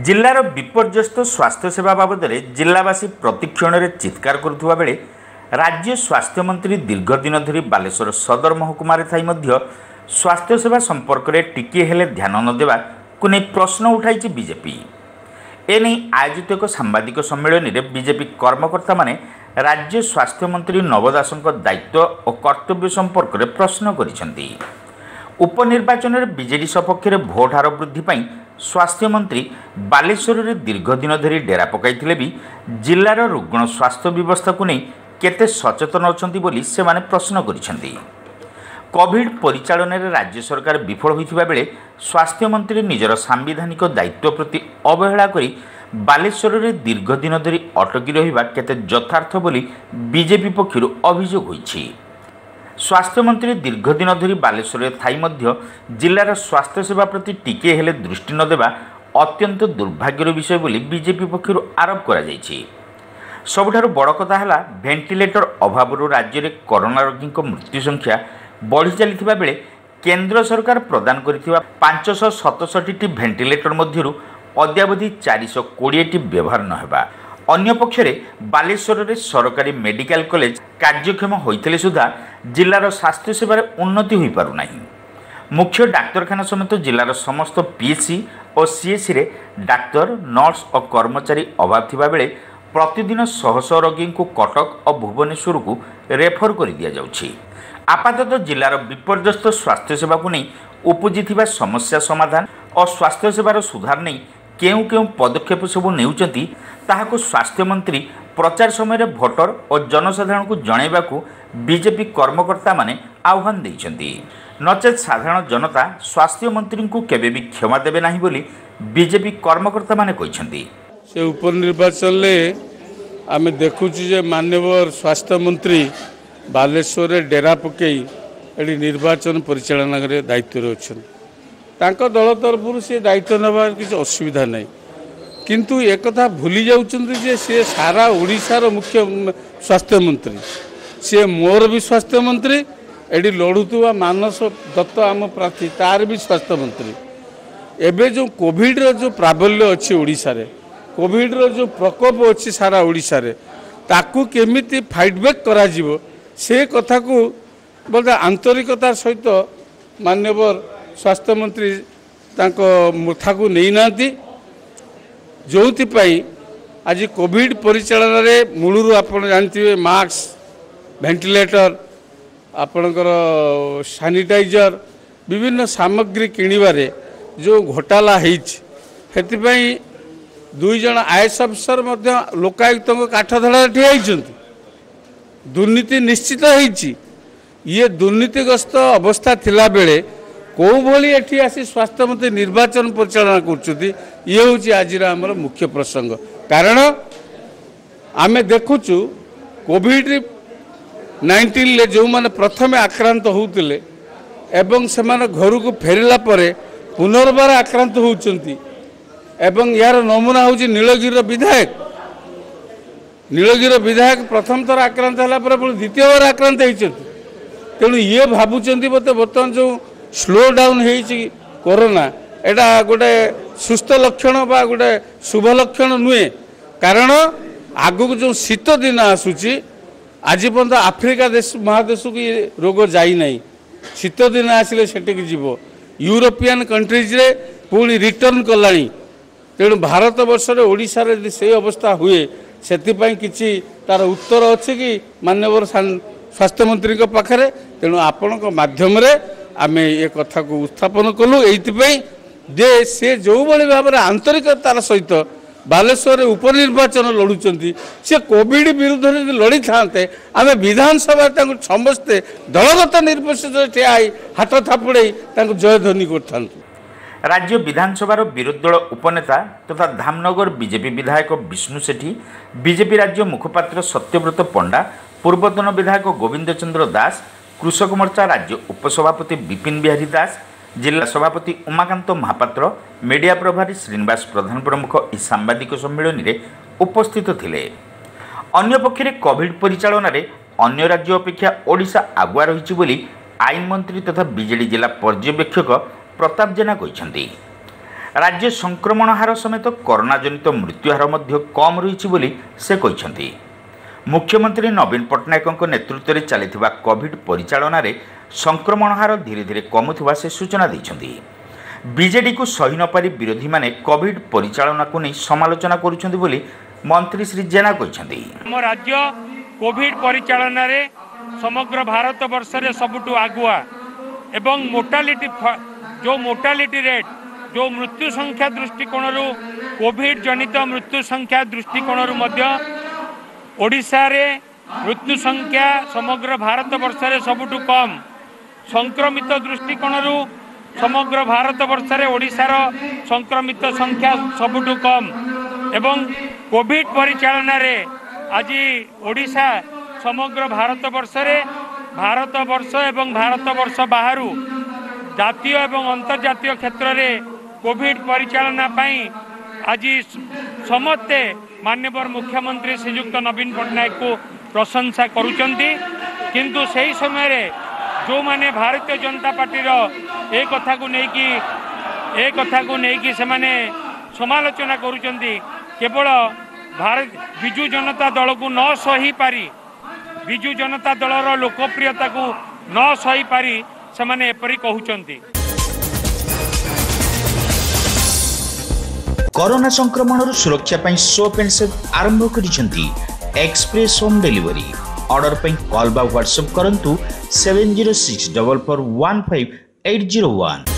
ଜିଲ୍ଲାର ବିପର୍ଯ୍ୟସ୍ତ ସ୍ୱାସ୍ଥ୍ୟସେବା ବାବଦରେ ଜିଲ୍ଲାବାସୀ ପ୍ରତିକ୍ଷଣରେ ଚିତ୍କାର କରୁଥିବା ବେଳେ ରାଜ୍ୟ ସ୍ୱାସ୍ଥ୍ୟମନ୍ତ୍ରୀ ଦୀର୍ଘଦିନ ଧରି ବାଲେଶ୍ୱର ସଦର ମହକୁମାରେ ଥାଇ ମଧ୍ୟ ସ୍ୱାସ୍ଥ୍ୟସେବା ସମ୍ପର୍କରେ ଟିକିଏ ହେଲେ ଧ୍ୟାନ ନ ଦେବାକୁ ନେଇ ପ୍ରଶ୍ନ ଉଠାଇଛି ବିଜେପି। ଏନେଇ ଆୟୋଜିତ ଏକ ସାମ୍ବାଦିକ ସମ୍ମିଳନୀରେ ବିଜେପି କର୍ମକର୍ତ୍ତାମାନେ ରାଜ୍ୟ ସ୍ୱାସ୍ଥ୍ୟମନ୍ତ୍ରୀ ନବ ଦାସଙ୍କ ଦାୟିତ୍ୱ ଓ କର୍ତ୍ତବ୍ୟ ସମ୍ପର୍କରେ ପ୍ରଶ୍ନ କରିଛନ୍ତି। ଉପନିର୍ବାଚନରେ ବିଜେଡି ସପକ୍ଷରେ ଭୋଟ ହାର ବୃଦ୍ଧି ପାଇଁ ସ୍ୱାସ୍ଥ୍ୟମନ୍ତ୍ରୀ ବାଲେଶ୍ୱରରେ ଦୀର୍ଘଦିନ ଧରି ଡେରା ପକାଇଥିଲେ ବି ଜିଲ୍ଲାର ରୁଗ୍ଣ ସ୍ୱାସ୍ଥ୍ୟ ବ୍ୟବସ୍ଥାକୁ ନେଇ କେତେ ସଚେତନ ଅଛନ୍ତି ବୋଲି ସେମାନେ ପ୍ରଶ୍ନ କରିଛନ୍ତି। କୋଭିଡ୍ ପରିଚାଳନାରେ ରାଜ୍ୟ ସରକାର ବିଫଳ ହୋଇଥିବା ବେଳେ ସ୍ୱାସ୍ଥ୍ୟମନ୍ତ୍ରୀ ନିଜର ସାମ୍ବିଧାନିକ ଦାୟିତ୍ୱ ପ୍ରତି ଅବହେଳା କରି ବାଲେଶ୍ୱରରେ ଦୀର୍ଘଦିନ ଧରି ଅଟକି ରହିବା କେତେ ଯଥାର୍ଥ ବୋଲି ବିଜେପି ପକ୍ଷରୁ ଅଭିଯୋଗ ହୋଇଛି। ସ୍ୱାସ୍ଥ୍ୟମନ୍ତ୍ରୀ ଦୀର୍ଘଦିନ ଧରି ବାଲେଶ୍ୱରରେ ଥାଇ ମଧ୍ୟ ଜିଲ୍ଲାର ସ୍ୱାସ୍ଥ୍ୟସେବା ପ୍ରତି ଟିକିଏ ହେଲେ ଦୃଷ୍ଟି ନ ଦେବା ଅତ୍ୟନ୍ତ ଦୁର୍ଭାଗ୍ୟର ବିଷୟ ବୋଲି ବିଜେପି ପକ୍ଷରୁ ଆରୋପ କରାଯାଇଛି। ସବୁଠାରୁ ବଡ଼ କଥା ହେଲା, ଭେଣ୍ଟିଲେଟର ଅଭାବରୁ ରାଜ୍ୟରେ କରୋନା ରୋଗୀଙ୍କ ମୃତ୍ୟୁ ସଂଖ୍ୟା ବଢ଼ି ଚାଲିଥିବା ବେଳେ କେନ୍ଦ୍ର ସରକାର ପ୍ରଦାନ କରିଥିବା 567ଟି ଭେଣ୍ଟିଲେଟର ମଧ୍ୟରୁ ଅଦ୍ୟାବଧି 420ଟି ବ୍ୟବହାର ନ ହେବା, ଅନ୍ୟପକ୍ଷରେ ବାଲେଶ୍ୱରରେ ସରକାରୀ ମେଡିକାଲ କଲେଜ କାର୍ଯ୍ୟକ୍ଷମ ହୋଇଥିଲେ ସୁଦ୍ଧା ଜିଲ୍ଲାର ସ୍ୱାସ୍ଥ୍ୟସେବାରେ ଉନ୍ନତି ହୋଇପାରୁନାହିଁ। ମୁଖ୍ୟ ଡାକ୍ତରଖାନା ସମେତ ଜିଲ୍ଲାର ସମସ୍ତ ପିଏଚ୍ସି ଓ ସିଏଚ୍ସିରେ ଡାକ୍ତର, ନର୍ସ ଓ କର୍ମଚାରୀ ଅଭାବ ଥିବାବେଳେ ପ୍ରତିଦିନ ଶହ ଶହ ରୋଗୀଙ୍କୁ କଟକ ଓ ଭୁବନେଶ୍ୱରକୁ ରେଫର କରି ଦିଆଯାଉଛି। ଆପାତତଃ ଜିଲ୍ଲାର ବିପର୍ଯ୍ୟସ୍ତ ସ୍ୱାସ୍ଥ୍ୟସେବାକୁ ନେଇ ଉପୁଜିଥିବା ସମସ୍ୟା ସମାଧାନ ଓ ସ୍ୱାସ୍ଥ୍ୟସେବାର ସୁଧାର ନେଇ କେଉଁ କେଉଁ ପଦକ୍ଷେପ ସବୁ ନେଉଛନ୍ତି, ତାହାକୁ ସ୍ୱାସ୍ଥ୍ୟମନ୍ତ୍ରୀ ପ୍ରଚାର ସମୟରେ ଭୋଟର ଓ ଜନସାଧାରଣଙ୍କୁ ଜଣାଇବାକୁ ବିଜେପି କର୍ମକର୍ତ୍ତାମାନେ ଆହ୍ୱାନ ଦେଇଛନ୍ତି। ନଚେତ୍ ସାଧାରଣ ଜନତା ସ୍ୱାସ୍ଥ୍ୟମନ୍ତ୍ରୀଙ୍କୁ କେବେ ବି କ୍ଷମା ଦେବେ ନାହିଁ ବୋଲି ବିଜେପି କର୍ମକର୍ତ୍ତାମାନେ କହିଛନ୍ତି। ସେ ଉପନିର୍ବାଚନରେ ଆମେ ଦେଖୁଛୁ ଯେ ମାନ୍ୟବର ସ୍ୱାସ୍ଥ୍ୟମନ୍ତ୍ରୀ ବାଲେଶ୍ୱରରେ ଡେରା ପକାଇ ଏଠି ନିର୍ବାଚନ ପରିଚାଳନା କରିବା ଦାୟିତ୍ୱରେ ଅଛନ୍ତି। ତାଙ୍କ ଦଳ ତରଫରୁ ସେ ଦାୟିତ୍ୱ ନେବାର କିଛି ଅସୁବିଧା ନାହିଁ, କିନ୍ତୁ ଏକଥା ଭୁଲି ଯାଉଛନ୍ତି ଯେ ସିଏ ସାରା ଓଡ଼ିଶାର ମୁଖ୍ୟ ସ୍ୱାସ୍ଥ୍ୟମନ୍ତ୍ରୀ, ସିଏ ମୋର ବି ସ୍ୱାସ୍ଥ୍ୟମନ୍ତ୍ରୀ, ଏଠି ଲଢ଼ୁଥିବା ମାନସ ଦତ୍ତ ଆମ ପ୍ରାର୍ଥୀ ତାର ବି ସ୍ୱାସ୍ଥ୍ୟମନ୍ତ୍ରୀ। ଏବେ ଯେଉଁ କୋଭିଡ଼ର ଯେଉଁ ପ୍ରାବଲ୍ୟ ଅଛି ଓଡ଼ିଶାରେ, କୋଭିଡ଼ର ଯେଉଁ ପ୍ରକୋପ ଅଛି ସାରା ଓଡ଼ିଶାରେ, ତାକୁ କେମିତି ଫାଇଟ୍ ବ୍ୟାକ୍ କରାଯିବ ସେ କଥାକୁ ବୋଧେ ଆନ୍ତରିକତାର ସହିତ ମାନ୍ୟବର ସ୍ୱାସ୍ଥ୍ୟମନ୍ତ୍ରୀ ତାଙ୍କ ମୁଠାକୁ ନେଇନାହାନ୍ତି। ଯେଉଁଥିପାଇଁ ଆଜି କୋଭିଡ଼ ପରିଚାଳନାରେ ମୂଳରୁ ଆପଣ ଜାଣିଥିବେ ମାସ୍କ, ଭେଣ୍ଟିଲେଟର, ଆପଣଙ୍କର ସାନିଟାଇଜର, ବିଭିନ୍ନ ସାମଗ୍ରୀ କିଣିବାରେ ଯେଉଁ ଘୋଟାଲା ହେଇଛି, ସେଥିପାଇଁ 2 ଜଣ ଆଇଏଏସ୍ ଅଫିସର ମଧ୍ୟ ଲୋକାୟୁକ୍ତଙ୍କ କାଠଧଡ଼ାରେ ଠିଆ ହେଇଛନ୍ତି। ଦୁର୍ନୀତି ନିଶ୍ଚିତ ହେଇଛି। ଇଏ ଦୁର୍ନୀତିଗ୍ରସ୍ତ ଅବସ୍ଥା ଥିଲାବେଳେ କେଉଁଭଳି ଏଠି ଆସି ସ୍ୱାସ୍ଥ୍ୟମନ୍ତ୍ରୀ ନିର୍ବାଚନ ପରିଚାଳନା କରୁଛନ୍ତି, ଇଏ ହେଉଛି ଆଜିର ଆମର ମୁଖ୍ୟ ପ୍ରସଙ୍ଗ। କାରଣ ଆମେ ଦେଖୁଛୁ କୋଭିଡ଼ 19ରେ ଯେଉଁମାନେ ପ୍ରଥମେ ଆକ୍ରାନ୍ତ ହେଉଥିଲେ ଏବଂ ସେମାନେ ଘରକୁ ଫେରିଲା ପରେ ପୁନର୍ବାର ଆକ୍ରାନ୍ତ ହେଉଛନ୍ତି, ଏବଂ ଏହାର ନମୁନା ହେଉଛି ନୀଳଗିରିର ବିଧାୟକ। ନୀଳଗିରିର ବିଧାୟକ ପ୍ରଥମ ଥର ଆକ୍ରାନ୍ତ ହେଲା ପରେ ପୁଣି ଦ୍ୱିତୀୟବାର ଆକ୍ରାନ୍ତ ହେଇଛନ୍ତି। ତେଣୁ ଇଏ ଭାବୁଛନ୍ତି ବୋଧେ ବର୍ତ୍ତମାନ ଯେଉଁ ସ୍ଲୋ ଡାଉନ୍ ହେଇଛି କରୋନା, ଏଇଟା ଗୋଟେ ସୁସ୍ଥ ଲକ୍ଷଣ ବା ଗୋଟେ ଶୁଭ ଲକ୍ଷଣ ନୁହେଁ। କାରଣ ଆଗକୁ ଯେଉଁ ଶୀତ ଦିନ ଆସୁଛି, ଆଜି ପର୍ଯ୍ୟନ୍ତ ଆଫ୍ରିକା ଦେଶ ମହାଦେଶକୁ ଏ ରୋଗ ଯାଇନାହିଁ, ଶୀତ ଦିନ ଆସିଲେ ସେଠିକି ଯିବ। ୟୁରୋପିଆନ୍ କଣ୍ଟ୍ରିଜରେ ପୁଣି ରିଟର୍ଣ୍ଣ କଲାଣି। ତେଣୁ ଭାରତବର୍ଷରେ ଓଡ଼ିଶାରେ ଯଦି ସେଇ ଅବସ୍ଥା ହୁଏ, ସେଥିପାଇଁ କିଛି ତାର ଉତ୍ତର ଅଛି କି ମାନ୍ୟବର ସ୍ୱାସ୍ଥ୍ୟମନ୍ତ୍ରୀଙ୍କ ପାଖରେ? ତେଣୁ ଆପଣଙ୍କ ମାଧ୍ୟମରେ ଆମେ ଏ କଥାକୁ ଉତ୍ଥାପନ କଲୁ ଏଇଥିପାଇଁ ଯେ ସେ ଯେଉଁଭଳି ଭାବରେ ଆନ୍ତରିକତାର ସହିତ ବାଲେଶ୍ୱରରେ ଉପନିର୍ବାଚନ ଲଢ଼ୁଛନ୍ତି, ସେ କୋଭିଡ଼ ବିରୁଦ୍ଧରେ ଯଦି ଲଢ଼ିଥାନ୍ତେ, ଆମେ ବିଧାନସଭାରେ ତାଙ୍କୁ ସମସ୍ତେ ଦଳଗତ ନିର୍ବିଶେଷରେ ଠିଆ ହେଇ ହାତ ଥାପୁଡ଼େଇ ତାଙ୍କୁ ଜୟଧ୍ୱନି କରିଥାନ୍ତୁ। ରାଜ୍ୟ ବିଧାନସଭାର ବିରୋଧୀ ଦଳ ଉପନେତା ତଥା ଧାମନଗର ବିଜେପି ବିଧାୟକ ବିଷ୍ଣୁ ସେଠୀ, ବିଜେପି ରାଜ୍ୟ ମୁଖପାତ୍ର ସତ୍ୟବ୍ରତ ପଣ୍ଡା, ପୂର୍ବତନ ବିଧାୟକ ଗୋବିନ୍ଦ ଚନ୍ଦ୍ର ଦାସ, କୃଷକ ମୋର୍ଚ୍ଚା ରାଜ୍ୟ ଉପସଭାପତି ବିପିନ ବିହାରୀ ଦାସ, ଜିଲ୍ଲା ସଭାପତି ଉମାକାନ୍ତ ମହାପାତ୍ର, ମିଡ଼ିଆ ପ୍ରଭାରୀ ଶ୍ରୀନିବାସ ପ୍ରଧାନ ପ୍ରମୁଖ ଏହି ସାମ୍ବାଦିକ ସମ୍ମିଳନୀରେ ଉପସ୍ଥିତ ଥିଲେ। ଅନ୍ୟପକ୍ଷରେ କୋଭିଡ୍ ପରିଚାଳନାରେ ଅନ୍ୟ ରାଜ୍ୟ ଅପେକ୍ଷା ଓଡ଼ିଶା ଆଗୁଆ ରହିଛି ବୋଲି ଆଇନ ମନ୍ତ୍ରୀ ତଥା ବିଜେଡି ଜିଲ୍ଲା ପର୍ଯ୍ୟବେକ୍ଷକ ପ୍ରତାପ ଜେନା କହିଛନ୍ତି। ରାଜ୍ୟ ସଂକ୍ରମଣ ହାର ସମେତ କରୋନାଜନିତ ମୃତ୍ୟୁହାର ମଧ୍ୟ କମ୍ ରହିଛି ବୋଲି ସେ କହିଛନ୍ତି। ମୁଖ୍ୟମନ୍ତ୍ରୀ ନବୀନ ପଟ୍ଟନାୟକଙ୍କ ନେତୃତ୍ୱରେ ଚାଲିଥିବା କୋଭିଡ୍ ପରିଚାଳନାରେ ସଂକ୍ରମଣ ହାର ଧୀରେ ଧୀରେ କମୁଥିବା ସେ ସୂଚନା ଦେଇଛନ୍ତି। ବିଜେଡିକୁ ସହି ନପାରି ବିରୋଧୀମାନେ କୋଭିଡ୍ ପରିଚାଳନାକୁ ନେଇ ସମାଲୋଚନା କରୁଛନ୍ତି ବୋଲି ମନ୍ତ୍ରୀ ଶ୍ରୀ ଜେନା କହିଛନ୍ତି। ଆମ ରାଜ୍ୟ କୋଭିଡ୍ ପରିଚାଳନାରେ ସମଗ୍ର ଭାରତବର୍ଷରେ ସବୁଠୁ ଆଗୁଆ ଏବଂ ମୋର୍ଟାଲିଟି, ଯେଉଁ ମୋର୍ଟାଲିଟି ରେଟ୍, ଯେଉଁ ମୃତ୍ୟୁ ସଂଖ୍ୟା ଦୃଷ୍ଟିକୋଣରୁ, କୋଭିଡ୍ ଜନିତ ମୃତ୍ୟୁ ସଂଖ୍ୟା ଦୃଷ୍ଟିକୋଣରୁ ମଧ୍ୟ ଓଡ଼ିଶାରେ ମୃତ୍ୟୁ ସଂଖ୍ୟା ସମଗ୍ର ଭାରତବର୍ଷରେ ସବୁଠୁ କମ୍। ସଂକ୍ରମିତ ଦୃଷ୍ଟିକୋଣରୁ ସମଗ୍ର ଭାରତବର୍ଷରେ ଓଡ଼ିଶାର ସଂକ୍ରମିତ ସଂଖ୍ୟା ସବୁଠୁ କମ୍ ଏବଂ କୋଭିଡ୍ ପରିଚାଳନାରେ ଆଜି ଓଡ଼ିଶା ସମଗ୍ର ଭାରତବର୍ଷରେ, ଭାରତବର୍ଷ ଏବଂ ଭାରତବର୍ଷ ବାହାରୁ ଜାତୀୟ ଏବଂ ଅନ୍ତର୍ଜାତୀୟ କ୍ଷେତ୍ରରେ କୋଭିଡ୍ ପରିଚାଳନା ପାଇଁ ଆଜି ସମସ୍ତେ ମାନ୍ୟବର ମୁଖ୍ୟମନ୍ତ୍ରୀ ଶ୍ରୀଯୁକ୍ତ ନବୀନ ପଟ୍ଟନାୟକଙ୍କୁ ପ୍ରଶଂସା କରୁଛନ୍ତି। କିନ୍ତୁ ସେହି ସମୟରେ ଯେଉଁମାନେ ଭାରତୀୟ ଜନତା ପାର୍ଟିର ଏ କଥାକୁ ନେଇକି ସେମାନେ ସମାଲୋଚନା କରୁଛନ୍ତି, କେବଳ ଭାରତ ବିଜୁ ଜନତା ଦଳକୁ ନ ସହିପାରି, ବିଜୁ ଜନତା ଦଳର ଲୋକପ୍ରିୟତାକୁ ନ ସହିପାରି ସେମାନେ ଏପରି କହୁଛନ୍ତି। କରୋନା ସଂକ୍ରମଣରୁ ସୁରକ୍ଷା ପାଇଁ ସୋପ୍ ଆଣ୍ଡ ସେଫ୍ ଆରମ୍ଭ କରିଛନ୍ତି ଏକ୍ସପ୍ରେସ୍ ହୋମ୍ ଡେଲିଭରି। ଅର୍ଡର ପାଇଁ କଲ୍ ବା ହ୍ୱାଟ୍ସଆପ୍ କରନ୍ତୁ 7064415801।